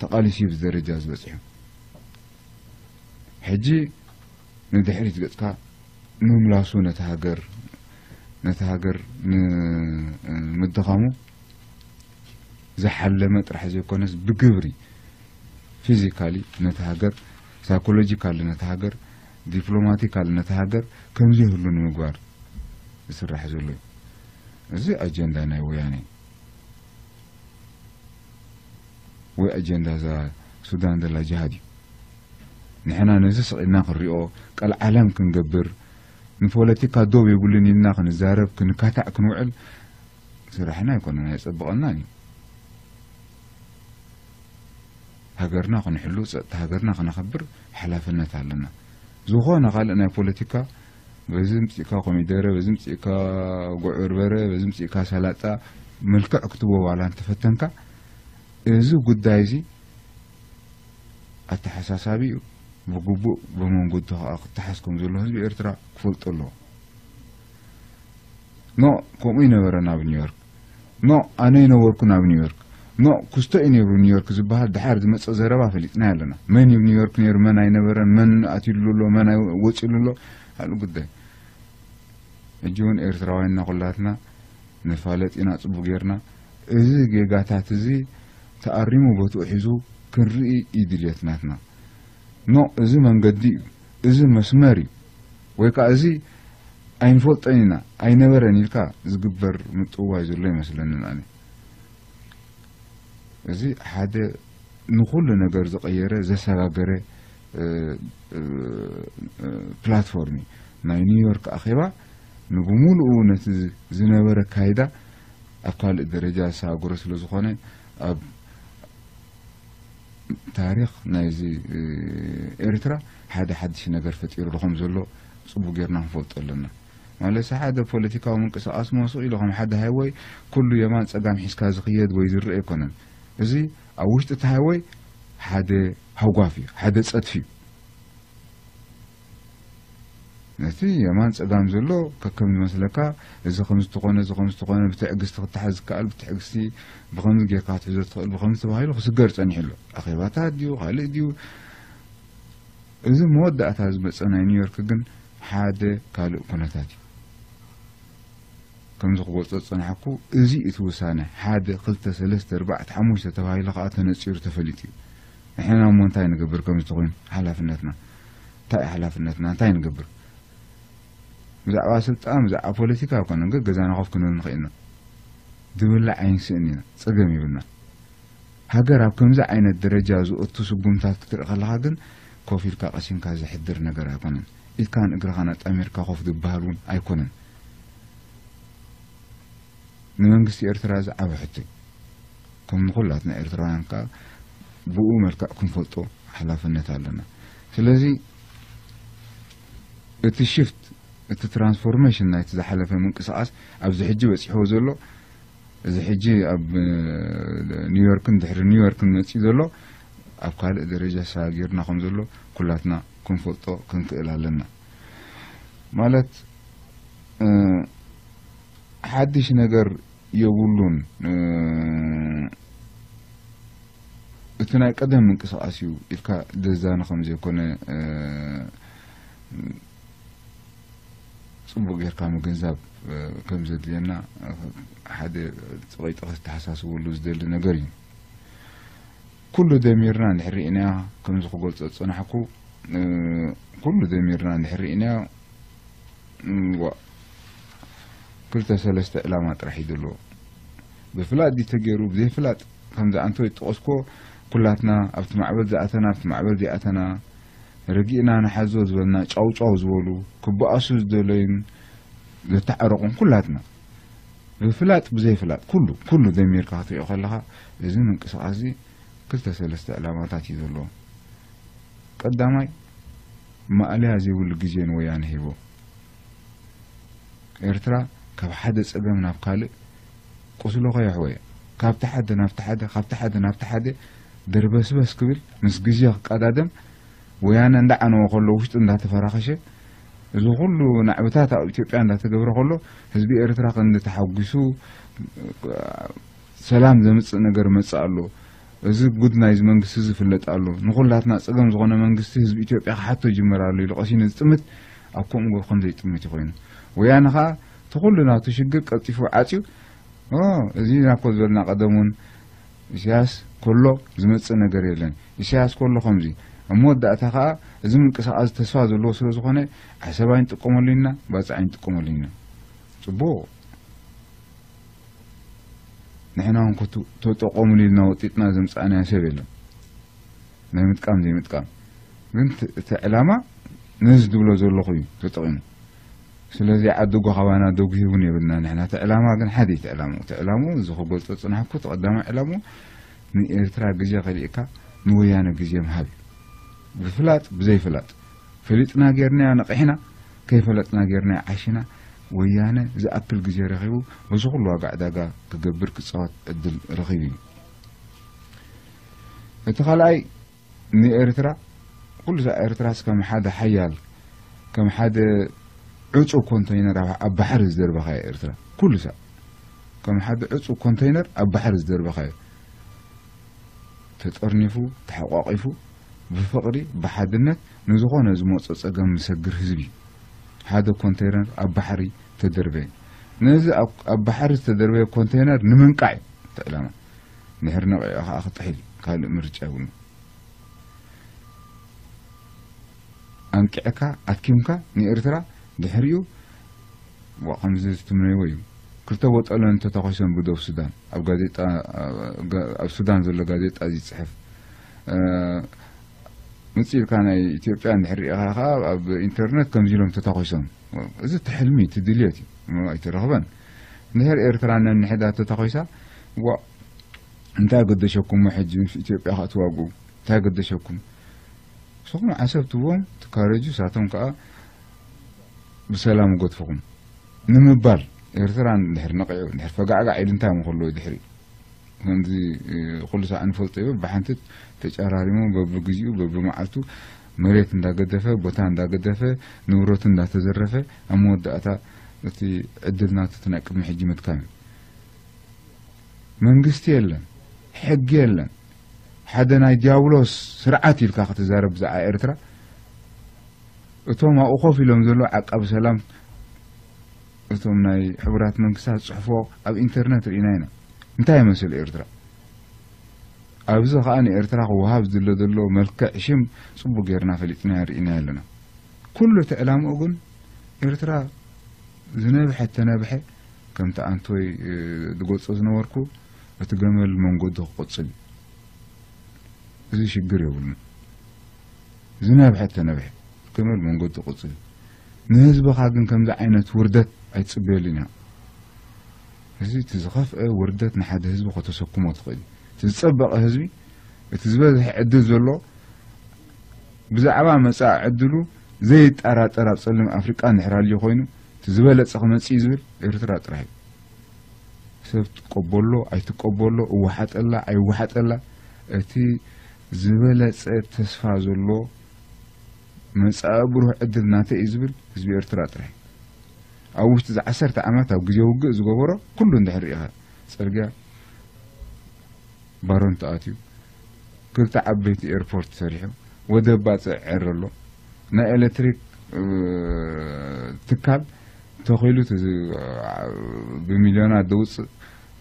ተቓሊሱ እዩ ኣብዚ ደረጃ ዝበጽሑ። ሕጂ ንድሕሪት ገጽካ ምምላሱ ነቲ ሃገር ነቲ ሃገር ንምድኻሙ ዝሓለመ ጥራሕ ዘይኮነስ ብግብሪ ፊዚካሊ ነቲ ሃገር ሳይኮሎጂካሊ ነቲ ሃገር ዲፕሎማቲካሊ ነቲ ሃገር ከምዘይህሉ ንምግባር ዝስራሕ ዘሎ እዩ። እዚ ኣጀንዳ ናይ ወያነ እዩ። ወይ ኣጀንዳ እዛ ሱዳን ዘላ ጅሃድ እዩ። ንሕና ነዚ ስቕ ኢልና ክንሪኦ ቀልዓለም ክንገብር ንፖለቲካ ዶብ የብሉን ኢልና ክንዛረብ ክንካታዕ ክንውዕል ስራሕና ኣይኮነን ኣየጸብቐናን እዩ። ሃገርና ክንሕሉ ጸጥታ ሃገርና ክነኸብር ሓላፍነት ኣለና። ዝኾነ ካልእ ናይ ፖለቲካ በዚ ምጽእካ ኮሚደረ በዚ ምጽእካ ጉዕ በርበረ በዚ ምጽእካ ሰላጣ መልክዕ ክትቦ ዋላ እንተፈተንካ እዚ ጉዳይ እዚ ኣተሓሳሳቢኡ ብግቡእ ብመንገዱ ከዓ ክተሓዝ ከም ዘሎ ህዝቢ ኤርትራ ክፈልጦ ኣለዎ። ኖ ከምኡ ይነበረን ኣብ ኒውዮርክ ኖ፣ ኣነ ይነበርኩን ኣብ ኒውዮርክ። ኖ፣ ኩስቶ እዩ ነይሩ ኒውዮርክ ዝበሃል ድሓር ዝመጸ ዘረባ ፈሊጥና ኣለና። መን እዩ ኒውዮርክ ነይሩ፣ መን ኣይነበረን፣ መን ኣትዩሉ ኣሎ፣ መን ኣይ-፣ ወጺሉ ኣሎ፣ ካልእ ጉዳይ። ሕጂ እውን ኤርትራውያንና ኩላትና ንፋለጥ ኢና ጽቡቅ ጌርና። እዚ ጌጋታት እዚ ተኣሪሙ ቦትኡ ሒዙ ክንርኢ እዩ ድልየት ናትና። ኖ፣ እዚ መንገዲ እዩ፣ እዚ መስመር እዩ፣ ወይ ከኣ እዚ ኣይንፈልጦን ኢና፣ ኣይነበረን ኢልካ ዝግበር ምጥዋይ ዘሎ ይመስለንን ኣነ። እዚ ሓደ ንኹሉ ነገር ዝቐየረ፣ ዘሰጋገረ፣ እ፣ እ፣ እ፣ ፕላትፎርም እዩ። ናይ ኒውዮርክ ኣኼባ ንብሙሉኡ ነቲ ዝ-፣ ዝነበረ ኣካይዳ ኣብ ካልእ ደረጃ ዘሰጋገሮ ስለ ዝኾነ፣ ኣብ ታሪኽ ናይዚ፣ እ፣ ኤርትራ ሓደ ሓድሽ ነገር ፈጢሩ ዶ ከም ዘሎ ጽቡቅ ጌርና ክንፈልጦ ኣለና። ማለት ሓደ ፖለቲካዊ ምንቅስቃስ መሲሉ ከም ሓደ ሃይወይ ኩሉ የማን ጸጋም ሒዝካ ዝኽየድ ወይ ዝረአ ኣይኮነን። እዚ ኣብ ውሽጢ እቲ ሃይወይ ሓደ ሃጓፍ እዩ፣ ሓደ ጸድፊ እዩ። ነቲ የማን ጸጋም ዘሎ ከከም ዝመስለካ፣ እዚ ከም ዝተኾነ፣ እዚ ከም ዝተኾነ፣ ብትዕግስቲ ክተሓዝ ዝከኣል ብትዕግስቲ፣ ብኸምዚ ጌርካ ክትሕዞ ትኽእል፣ ብኸምዚ ተባሂሉ ክስገር ጸኒሑ ኣሎ። ኣኼባታት ድዩ፣ ካልእ ድዩ? እዚ መወዳእታ ዝመጸ ናይ ኒውዮርክ ግን ሓደ ካልእ ኩነታት እዩ። ከምዚ ክገልጾ ዝጸናሕኩ፣ እዚ እቲ ውሳነ ሓደ፣ ክልተ፣ ሰለስተ፣ ኣርባዕተ፣ ሓሙሽተ ተባሂሉ ከኣ ተነጺሩ ተፈሊጡ እዩ። ንሕና እሞ እንታይ ንገብር? ከምዚ ተኾይኑ ሓላፍነትና እንታይ እዩ? ሓላፍነትና እንታይ ንገብር? ብዛዕባ ስልጣን፣ ብዛዕባ ፖለቲካ ኣይኮነን፣ ገ-፣ ገዛና ኮፍ ክንብል ንኽእል ኢና። ዝብላዕ ኣይንስእን ኢና፣ ጸገም የብልና። ሃገር ኣብ ከምዚ ዓይነት ደረጃ ዝእቱ ስጉምታት ክትርኢ ከለኻ ግን ኮፍ ኢልካ ቀሲንካ ዘሕድር ነገር ኣይኮነን። ኢድካን እግርኻን ኣጣሚርካ ኮፍ ዝበሃል እውን ኣይኮነን። ንመንግስቲ ኤርትራ ዝዓበ ሕቶ እዩ። ከም ንኹላትና ኤርትራውያን ከኣ ብኡ መልክዕ ክንፈልጦ ሓላፍነት ኣለና። ስለዚ እቲ ሽፍት፣ እቲ ትራንስፎርሜሽን ናይቲ ዝሓለፈ ምንቅስቃስ ኣብዚ ሕጂ በጺሕዎ ዘሎ፣ እዚ ሕጂ ኣብ፣ እ፣ ኒውዮርክን ድሕሪ ኒውዮርክን መጺኡ ዘሎ ኣብ ካልእ ደረጃ ሰጋጊርና ከም ዘሎ ኩላትና ክንፈልጦ ክንክእል ኣለና። ማለት፣ እ፣ ሓድሽ ነገር የብሉን። እ፣ እቲ ናይ ቀደም ምንቅስቃስ እዩ ኢልካ ደዛኒ ከም ዘይኮነ፣ እ፣ ጽቡቅ ጌርካ ምግንዛብ፣ እ፣ ከም ዘድልየና፣ እ፣ ሓደ ጸቂጢ ከተሓሳስበሉ ዝደሊ ነገር እዩ። ኩሉ ደሚርና እንድሕር ርኢናዮ፣ ከምዚ ክገልጾ ዝጸናሕኩ፣ እ፣ ኩሉ ደሚርና እንድሕር ርኢናዮ፣ እም፣ ዋ፣ ክልተ ሰለስተ ዕላማ ጥራሕ እዩ ዘለዎ። ብፍላጥ ድዩ ተገይሩ፣ ብዘይፍላጥ፣ ከምዚ ኣንተ ዝጠቐስኮ፣ ኩላትና ኣብቲ ማዕበል ዝኣተና፣ ኣብቲ ማዕበል ዘይኣተና፣ ረጊእና ንሓዞ ዝበልና፣ ጫው ጫው ዝበሉ፣ ክበኣሱ ዝደለዩን ዘተዓረቑን ኩላትና፣ ብፍላጥ ብዘይፍላጥ፣ ኩሉ፣ ኩሉ ደሚርካ ክትሪኦ ከለኻ፣ እዚ ምንቅስቃስ እዚ ክልተ ሰለስተ ዕላማታት እዩ ዘለዎ። ቀዳማይ፣ ማእለያ ዘይብሉ ግዜ ንወያነ ሂቦ። ኤርትራ ካብ ሓደ ጸገም ናብ ካልእ ቁስሉ ከየሕወየ፣ ካብቲ ሓደ ናብቲ ሓደ፣ ካብቲ ሓደ ናብቲ ሓደ ደርበስበስ ክብል፣ ምስ ግዜ ክቀዳደም፣ ወያነ እንዳዓነወ ከሎ፣ ውሽጡ እንዳተፈራኸሸ፣ እዚ ኩሉ ናዕብታት ኣብ ኢትዮጵያ እንዳተገብረ ከሎ፣ ህዝቢ ኤርትራ ክንዲ ተሓጒሱ፣ ሰላም ዘምጽእ ነገር መጽእ ኣሎ። እዚ ጉድ ናይዚ መንግስቲ እዚ ይፍለጥ ኣሎ። ንኹላትና ጸገም ዝኾነ መንግስቲ ህዝቢ ኢትዮጵያ ክሓቶ ይጅምር ኣሎ ኢሉ ቀሲኑ ዝጥምት ኣብ ከምኡ ገብሩ ከም ዘይጥምት እዩ ኮይኑ። ወያነ ኸኣ እቲ ኩሉ ናቱ ሽግር ቀልጢፉ ዓጽዩ፣ ኦ፣ እዚ ኢና እኮ ዝበልና ቀደም እውን ኢሳያስ ከሎ ዝመጽእ ነገር የለን። ኢሳያስ ከሎ ከምዚ። ኣብ መወዳእታ ኸኣ እዚ ምንቅስቃስ ተስፋ ዘለዎ ስለ ዝኾነ ዓሰብ ኣይንጥቀመሉ ኢና፣ ባጽዕ ኣይንጥቀመሉ ኢና። ጽቡቕ። ንሕና እውን ክቱ-፣ ተጠቐሙሉ ኢልና ወጢጥና ዘምጻእናዮ ሰብ የለን። ናይ ምጥቃም ዘይምጥቃም። ግን እቲ፣ እቲ ዕላማ ነዚ ዝብሎ ዘለኹ እዩ ተጠቒሙ። ስለዚ ዓዲ ጓ ካባና ደጉሂ እውን የብልና ንሕና። እቲ ዕላማ ግን ሓደ እዩ እቲ ዕላምኡ። እቲ ዕላምኡ እዚ ክገልጾ ዝጸናሕኩ እቲ ቀዳማይ ዕላምኡ ንኤርትራ ግዜ ከሊእካ ንወያነ ግዜ ምሃብ እዩ። ብፍላጥ ብዘይፍላጥ። ፈሊጥና ጌርናዮ ነቒሕና፣ ከይፈለጥና ጌርናዮ ዓሺና፣ ወያነ ዝኣክል ግዜ ረኺቡ፣ በዚ ኩሉ ዋጋ ዕዳጋ ክገብር ክጻወት ዕድል ረኺቡ እዩ። እቲ ካልኣይ፣ ንኤርትራ፣ ኩሉ ሳዕ ኤርትራስ ከም ሓደ ሓያል፣ ከም ሓደ ዕጹው ኮንተይነር ኣብ፣ ኣብ ባሕሪ ዝደርበኻ እያ ኤርትራ። ኩሉ ሳዕ። ከም ሓደ ዕጹው ኮንተይነር ኣብ ባሕሪ ዝደርበኻዮ፣ ተጠርኒፉ፣ ተሓቋቒፉ፣ ብፍቕሪ፣ ብሓድነት ንዝኾነ ዝመጾ ጸገም ዝሰግር ህዝቢ እዩ። ሓደ ኮንተይነር ኣብ ባሕሪ ተደርበየ። ነዚ ኣብ፣ ኣብ ባሕሪ ዝተደርበየ ኮንተይነር ንምንቃዕ እዩ እቲ ዕላማ። ድሕሪ ነቒዑ ከኣ ክጥሕል እዩ። ካልእ ምርጫ የብሉን። ኣንቂዕካ፣ ኣድኪምካ ንኤርትራ ድሕሪኡ ዋ፣ ከምዚ ትምነይዎ እዩ። ክልተ ቦጠለን ተተኾይሰን ብደቡብ ሱዳን፣ ኣብ ጋዜጣ፣ ጋ-፣ ኣብ ሱዳን ዘሎ ጋዜጣ እዚ ይጽሕፍ። እ፣ ምጽእ ኢልካ ናይ ኢትዮጵያ እንድሕር ርኢኻ ከኣ ኣብ ኢንተርነት ከምዚ ኢሎም ተተኾይሶም። እዚ እቲ ሕልሚ፣ እቲ ድልየት እዩ። እሞ ኣይተረኽበን። እንድሕር ኤርትራ ነንሕዳ ተተኾይሳ፣ ዋ፣ እንታይ ገደሸኩም ሕጂ ምስ ኢትዮጵያ ክትዋግኡ? እንታይ ገደሸኩም? ንስኹም ዓሰብ ትቦም ትካረጁ፣ ሳቶም ከኣ ብሰላም ይገድፍኹም ንምባል፣ ኤርትራ እንድሕር ነቒዑ፣ እንድሕር ፈጋዕጋዕ ኢሉ እንታይ ምኸሎ ድሕሪ ከምዚ፣ እ፣ ኩሉ ሳዕ ንፈልጦ እዩ። ብሓንቲ ተጨራሪሙ በብግዚኡ በብመዓልቱ መሬት እንዳገደፈ፣ ቦታ እንዳገደፈ፣ ንብረቱ እንዳተዘረፈ፣ ኣብ መወዳእታ እቲ ዕድል ናቱ እቲ ናይ ቅድሚ ሕጂ ምድካም እዩ። መንግስቲ የለን፣ ሕጊ የለን። ሓደ ናይ ዲያብሎስ ስርዓት ኢልካ ክትዛረብ ብዛዕባ ኤርትራ፣ እቶም ኣብኡ ኮፍ ኢሎም ዘለዉ ዓቃቢ ሰላም፣ እቶም ናይ ሕቡራት መንግስታት ዝጽሕፍዎ ኣብ ኢንተርነት ርኢና ኢና። እንታይ ይመስል ኤርትራ? ኣብዚ ከኣ ንኤርትራ ክወሃብ ዝድለ ዘሎ መልክዕ ሽም ጽቡቅ ጌርና ፈሊጥናዮ ርኢናዮ ኣለና። ኩሉ እቲ ዕላምኡ ግን ኤርትራ ዝነብሐ ተነብሐ፣ ከምቲ ኣንቶይ፣ እ፣ ዝገልጾ ዝነበርኩ፣ እቲ ገመል መንገዱ ክቕጽል እዩ። እዚ ሽግር የብሉን። ዝነብሐ ተነብሐ፣ ገመል መንገዱ ክቕጽል እዩ። ንህዝብኻ ግን ከምዚ ዓይነት ውርደት ኣይትጽበየሉን ኢኻ። እዚ እቲ ዝኸፍአ ውርደት ንሓደ ህዝቢ ከተሰክሞ ትኽእል እዩ። እቲ ዝጸበቐ ህዝቢ፣ እቲ ዝበዝሐ ዕድል ዘሎ፣ ብዛዕባ መጻኢ ዕድሉ ዘይጠራጠር ኣብ ጸሊም ኣፍሪቃ እንድሕር ኣልዩ ኮይኑ፣ እቲ ዝበለጸ ክመጽእ እዩ ዝብል ኤርትራ ጥራሕ እዩ። ሰብ ትቀበሎ ኣይትቀበሎ፣ እወሓጠላ ኣይወሓጠላ፣ እቲ ዝበለጸ ተስፋ ዘሎ መጻኢ ብሩህ ዕድል ናተይ እዩ ዝብል ህዝቢ ኤርትራ ጥራሕ እዩ። ኣብ ውሽጢ እዚ ዓሰርተ ዓመት ኣብ ግዜ ውግእ ዝገበሮ ኩሉ እንድሕር ርኢኻ፣ ጽርግያ ባሮንቶ ኣትዩ፣ ክልተ ዓበይቲ ኤርፖርት ሰሪሑ፣ ወደብ ባጽዕ ዕር ኣሎ፣ ናይ ኤሌክትሪክ፣ እ፣ ትካል ተኺሉ፣ እቲ ዝ-፣ ብሚልዮናት ዘውጽእ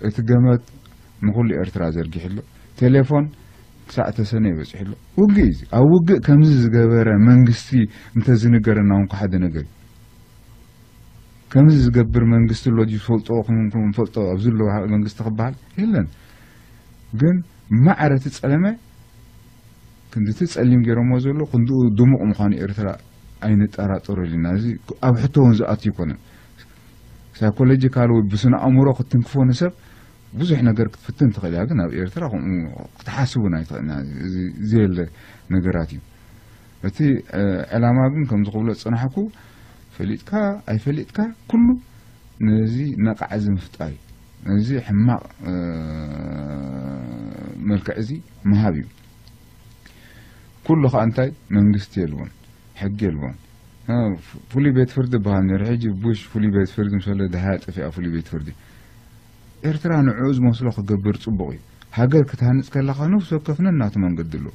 እቲ ገመድ ንኹሉ ኤርትራ ዘርጊሑ ኣሎ። ቴሌፎን ክሳዕ ተሰነየ በጺሑ ኣሎ። ውግእ እዩ እዚ። ኣብ ውግእ ከምዚ ዝገበረ መንግስቲ እንተዝንገረና እውን ሓደ ነገር እዩ። ከምዚ ዝገብር መንግስቲ ኣሎ ድዩ ዝፈልጦ፣ ክም-፣ ክም-፣ ፈልጦ ኣብዚ ኣሎ ሃ-፣ መንግስቲ ክበሃል የለን። ግን ማዕረ እቲ ጸለመ ክንዲ እቲ ጸሊም ገይሮሞ ዘሎ ክንድኡ ድሙቕ ምዃኑ ኤርትራ ኣይንጠራጠረሉና። እዚ ኣብ ሕቶ እውን ዝኣቱ ኣይኮነን። ሳይኮሎጂካል ወይ ብስነ ኣእምሮ ክትንክፎ ንሰብ ብዙሕ ነገር ክትፍትን ትኽእል እያ፣ ግን ኣብ ኤርትራ ከምኡ ክትሓስብ እውን ኣይትኽእልን እያ። እዚ ዘየለ ነገራት እዩ። እቲ፣ እ፣ ዕላማ ግን ከምዚ ክብሎ ዝጸናሕኩ፣ ፈሊጥካ ኣይፈሊጥካ ኩሉ ነዚ ነቓዕ እዚ ምፍጣር እዩ። ነዚ ሕማቕ፣ እ፣ መልክዕ እዚ ምሃብ እዩ። ኩሉ ኸኣ እንታይ መንግስቲ የልቦን፣ ሕጊ የልቦን። እ፣ ፍሉይ ቤት ፍርዲ ይበሃል ነይሩ። ሕጂ ቡሽ ፍሉይ ቤት ፍርዲ ምስ በለ ደሃያ ጠፊኣ ፍሉይ ቤት ፍርዲ። ኤርትራ ንዕኡ ዝመስሎ ክገብር ጽቡቕ እዩ። ሃገር ክትሃንጽ ከለኻ ነፍሲ ወከፍ ነናቱ መንገዲ ኣለዎ።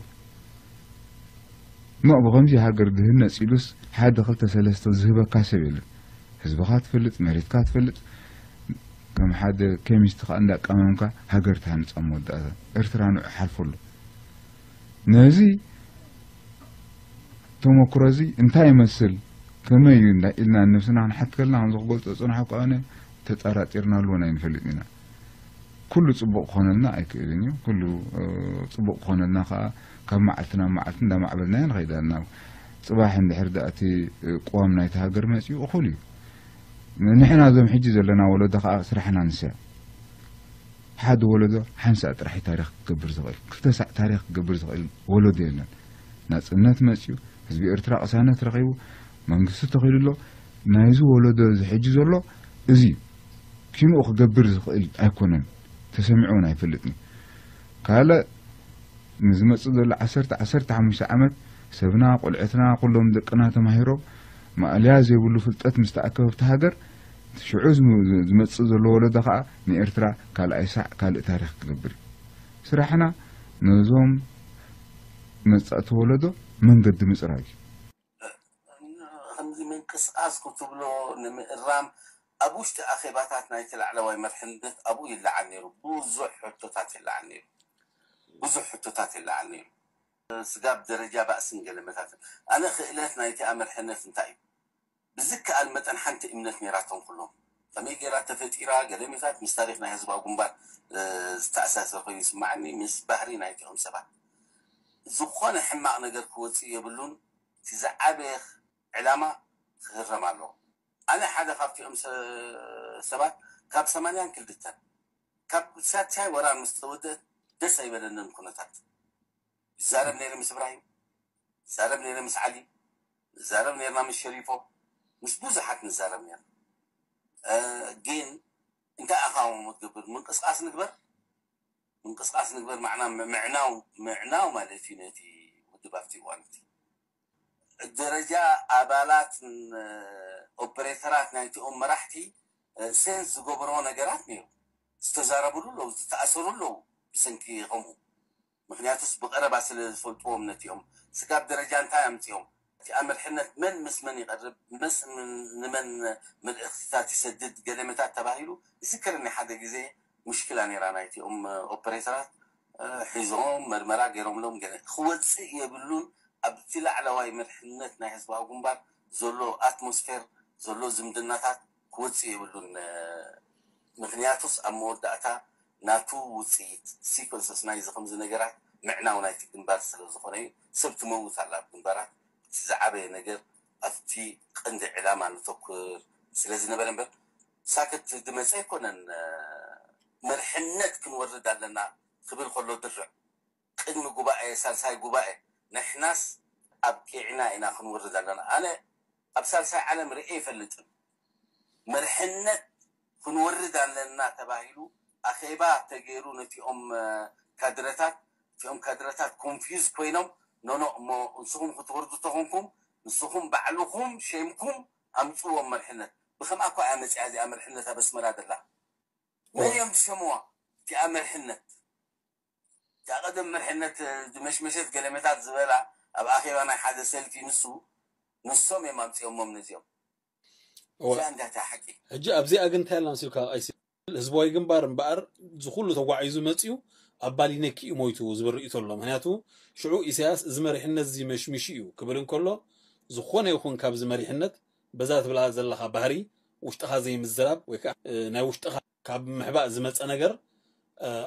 ኖእ ብኸምዚ ሃገር ድህነጽ ኢሉስ ሓደ ክልተ ሰለስተ ዝህበካ ሰብ የለን። ህዝብኻ ትፈልጥ፣ መሬትካ ትፈልጥ፣ ከም ሓደ ኬሚስት ከኣ እንዳቀመምካ ሃገር ትሃንጻ መወዳእታ። ኤርትራ ንዑ ሓልፎ ኣሎ። ነዚ ተመክሮ እዚ እንታይ ይመስል? ከመይ እዩ እንዳ ኢልና ንነብስና ክንሓት ከለና፣ ከምዚ ክገልጾ ዝጸናሕኩ ኣነ፣ ተጠራጢርናሉ እውን ኣይንፈልጥን ኢና። ኩሉ ጽቡቕ ክኾነልና ኣይክእልን እዩ። ኩሉ፣ እ፣ ጽቡቕ ክኾነልና ከኣ ካብ መዓልቲ ናብ መዓልቲ እንዳማዕበልናዮ ንኸይድ ኣለና። ጽባሕ እንድሕር ደኣ እቲ፣ እ፣ ቅዋም ናይቲ ሃገር መጺኡ እኹል እዩ። ንሕና እዞም ሕጂ ዘለና ወለዶ ከኣ ስራሕና ንስያ። ሓደ ወለዶ ሓንሳእ ጥራሕ እዩ ታሪኽ ክገብር ዝኽእል። ክልተ ሳዕ ታሪኽ ክገብር ዝኽእል ወለዶ የለን። ናጽነት መጺኡ፣ ህዝቢ ኤርትራ ቅሳነት ረኺቡ፣ መንግስቲ ተኺሉ ኣሎ። ናይዚ ወለዶ እዚ ሕጂ ዘሎ እዚ እዩ። ኪንኡ ክገብር ዝኽእል ኣይኮነን። ተሰሚዑ እውን ኣይፈልጥን እዩ። ካልእ ንዝመጽእ ዘሎ ዓሰርተ፣ ዓሰርተ ሓሙሽተ ዓመት ሰብና፣ ቆልዑትና፣ ኩሎም ደቅና ተማሂሮም ማእለያ ዘይብሉ ፍልጠት ምስ ተኣከበ ኣብቲ ሃገር ሽዑ ዝመፅእ ዘሎ ወለዶ ከዓ ንኤርትራ ካልኣይ ሳዕ ካልእ ታሪክ ክገብር እዩ። ስራሕና ነዞም መፃእቲ ወለዶ መንገዲ ምፅራግ እዩ። ከምዚ ምንቅስቃስ ክትብሎ ንምእራም ኣብ ውሽጢ ኣኼባታት ናይቲ ላዕለዋይ መርሕነት ኣብኡ ይለዓል ነይሩ። ብዙሕ ሕቶታት ይለዓል ነይሩ። ብዙሕ ሕቶታት ይለዓል ነይሩ። ስጋብ ደረጃ ባእስን ገለመታትን። ኣነ ክእለት ናይቲ ኣመርሕነት እንታይ እዩ? ብዝከኣል መጠን ሓንቲ እምነት ነይራቶም ኩሎም። ከመይ ገይራ ተፈጢራ ገለመታት ምስ ታሪክ ናይ ህዝባዊ ግንባር ዝተኣሳሰር ኮይኑ ይስማዓኒ፣ ምስ ባህሪ ናይቲኦም ሰባት። ዝኾነ ሕማቕ ነገር ክወፅእ የብሉን። እቲ ዝዓበየ ዕላማ ክህረም ኣለዎ። ኣነ ሓደ ካብቲኦም ሰባት ካብ ሰማንያን ክልተን ካብ ሳልሳይ ወራር ምስ ተወደእ ደስ ኣይበለንን ኩነታት። ይዛረብ ነይረ ምስ እብራሂም፣ ይዛረብ ነይረ ምስ ዓሊ፣ ንዛረብ ነርና ምስ ሸሪፎ፣ ምስ ብዙሓት ንዛረብ ነርና። ግን እንታይ ኣኻውሞ ትገብር? ምንቅስቃስ ንግበር፣ ምንቅስቃስ ንግበር ማዕና ምዕናው ምዕናው ማለት እዩ ነቲ ውድብ ኣብቲ እዋን እቲ ደረጃ ኣባላት ኦፐሬተራት ናይቲኦም መራሕቲ ሴንስ ዝገብሮ ነገራት ነይሩ። ዝተዛረብሉ ኣለዉ፣ ዝተኣሰሩ ኣለዉ ብሰንኪ ከምኡ። ምክንያቱስ ብቐረባ ስለ ዝፈልጥዎም ነቲኦም ስጋብ ደረጃ እንታይ ኣምፅኦም እቲ ኣመርሕነት መን ምስ መን ይቐርብ መስ ንመን ምልእክትታት ይሰድድ ገለመታት ተባሂሉ ይዝከረኒ ሓደ ግዜ ሙሽኪላ ነይራ ናይቲኦም ኦፐሬተራት ሒዞም መርመራ ገይሮምሎም ገለ ክወፅእ የብሉን ኣብቲ ላዕለዋይ መርሕነት ናይ ህዝባዊ ግንባር ዘሎ ኣትሞስፌር ዘሎ ዝምድናታት ክወፅእ የብሉን ምክንያቱስ ኣብ መወዳእታ ናቱ ውፅኢት ሲኮንሰስ ናይዚ ከምዚ ነገራት ምዕናው ናይቲ ግንባር ስለ ዝኾነ እዩ ሰብ ትመውት ኣላ ኣብ ግንባራት እቲ ዝዓበየ ነገር ኣብቲ ቀንዲ ዕላማ ንተኩር ስለ ዝነበረ እምበር ሳክት ዝመፀ ኣይኮነን መርሕነት ክንወርድ ኣለና ክብል ከሎ ድርዕ ቅድሚ ጉባኤ ሳልሳይ ጉባኤ ንሕናስ ኣብቂዕና ኢና ክንወርድ ኣለና ኣነ ኣብ ሳልሳይ ዓለም ርኤ ይፈልጥን መርሕነት ክንወርድ ኣለና ተባሂሉ ኣኼባ ተገይሩ ነቲኦም ካድረታት እቲኦም ካድረታት ኮንፊዝ ኮይኖም ኖኖ እሞ ንስኹም ክትወርዱ ተኾንኩም ንስኹም ባዕልኹም ሸምኩም ኣምፅዎም መርሕነት ብከምኣ እኳ እያ መፅያ እዚኣ መርሕነት ኣብ ኣስመራ ዘላ መን እዮም ዝሸምዋ እቲኣ መርሕነት እታ ቀደም መርሕነት ዝመሽመሸት ገለመታት ዝበላ ኣብ ኣኼባ ናይ ሓደ ሰልፊ ንሱ ንሶም እዮም ኣምፅኦሞም ነዚኦም እዚኣ እንዳታ ሓቂ ሕጂ ኣብዚኣ ግን እንታይ ኣላ መሲልካ ኣይሲ ህዝባዊ ግንባር እምበኣር ዝኩሉ ተጓዒዙ መፅዩ ኣብ ባሊነኪ እዩ ሞይቱ ዝብል ርእይቶ ኣሎ ምክንያቱ ሽዑ ኢሳያስ እዚ መሪሕነት እዚ መሽሚሹ እዩ ክብል እንከሎ ዝኾነ ይኹን ካብዚ መሪሕነት በዛ ትብላ ዘለኻ ባህሪ ውሽጥኻ ዘይምዝራብ ወይ ከዓ ናይ ውሽጥኻ ካብ ምሕባእ ዝመፀ ነገር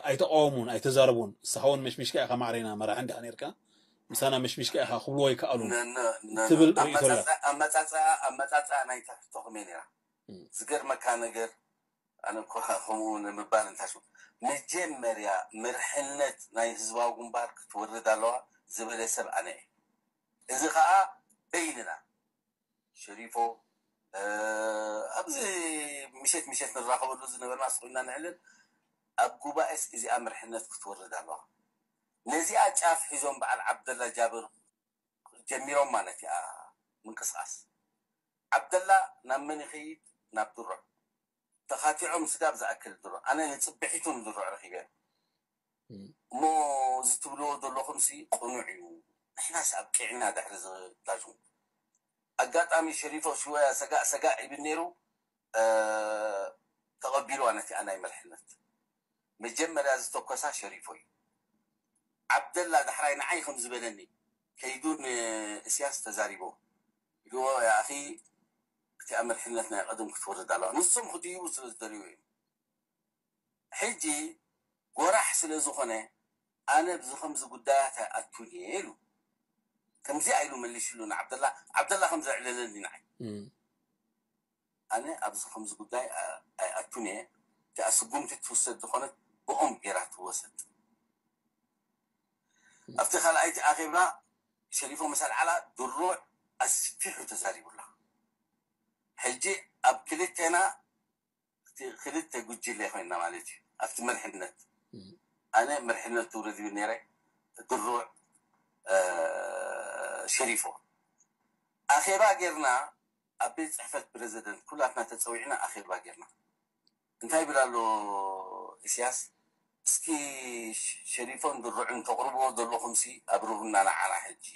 ኣይተቃወሙን ኣይተዛረቡን ንስኻ እውን መሽሚሽካ ኢኻ ማዕረና መራሒ እንዲኻ ነርካ ምሳና መሽሚሽካ ኢኻ ክብልዎ ኣይከኣሉን ትብል ርእይቶ ኣላ ኣመፃፅኣ ናይታ ሕቶ ከመይ ነራ ዝገርመካ ነገር ኣነ እኮ ከምኡ ንምባል እንታሽ መጀመርያ መርሕነት ናይ ህዝባዊ ግንባር ክትወርድ ኣለዋ ዝበለ ሰብ ኣነ እየ እዚ ከዓ በይንና ሸሪፎ ኣብዚ ምሸት ምሸት ንራኸበሉ ዝነበርና ስኮይና ንዕልን ኣብ ጉባኤስ እዚኣ መርሕነት ክትወርድ ኣለዋ ነዚኣ ጫፍ ሒዞም በዓል ዓብደላ ጃብር ጀሚሮም ማለት እያ ምንቅስቃስ ዓብደላ ናብ መን ይኸይድ ናብ ድሮ ተኻቲዖም ስጋብ ዝኣክል ድሮ ኣነ ንፅብሒቱ ንድሮ ረኪበ እሞ እዚ ትብልዎ ዘለኹም ሲ ቅኑዕ እዩ ንሕናስ ኣብቂዕና ድሕሪ ዝታሹ ኣጋጣሚ ሸሪፎ ሽወያ ሰጋእ ሰጋእ ይብል ነይሩ ተቐቢልዋ ነቲኣ ናይ መርሕነት መጀመርያ ዝተኮሳ ሸሪፎ እዩ ዓብደላ ዳሕራይ ንዓይ ከም ዝበለኒ ከይዱ ንእስያስ ተዛሪቦ ኢልዎ ያኣኺ እቲኣ መርሕነት ናይ ቀደም ክትወርድ ኣለዋ ንሶም ክድይቡ ስለ ዝደልዩ እዮም ሕጂ ጎራሕ ስለ ዝኾነ ኣነ ብዚ ከምዚ ጉዳያት ኣይኣቱን እየ ኢሉ ከምዚኣ ኢሉ መሊሽሉ ንዓብደላ ዓብደላ ከም ዘዕለለኒ ንዓይ ኣነ ኣብዚ ከምዚ ጉዳይ ኣይኣቱን እየ እቲኣ ስጉምቲ ትውሰድ ዝኾነት ብኦም ገይራ ትወሰድ ኣብቲ ካልኣይቲ ኣኼባ ሸሪፎ ምስ ኣልዓላ ድሩዕ ኣስፊሑ ተዛሪቡላ ሕጂ ኣብ ክልቴና እቲ ክልተ ጉጅለ ኮይና ማለት እዩ ኣብቲ መርሕነት ኣነ መርሕነት ትውረድ ይብል ነይረ ድሩዕ ሸሪፎ ኣኼባ ጌርና ኣብ ቤት ጽሕፈት ፕረዚደንት ኩላትና ተጸዊዕና ኣኼባ ጌርና። እንታይ ይብል ኣሎ ኢሳያስ? እስኪ ሸሪፎን ድርዑን ተቕርብዎ ዘለኹምሲ ኣብርሁና ንዓና ሕጂ።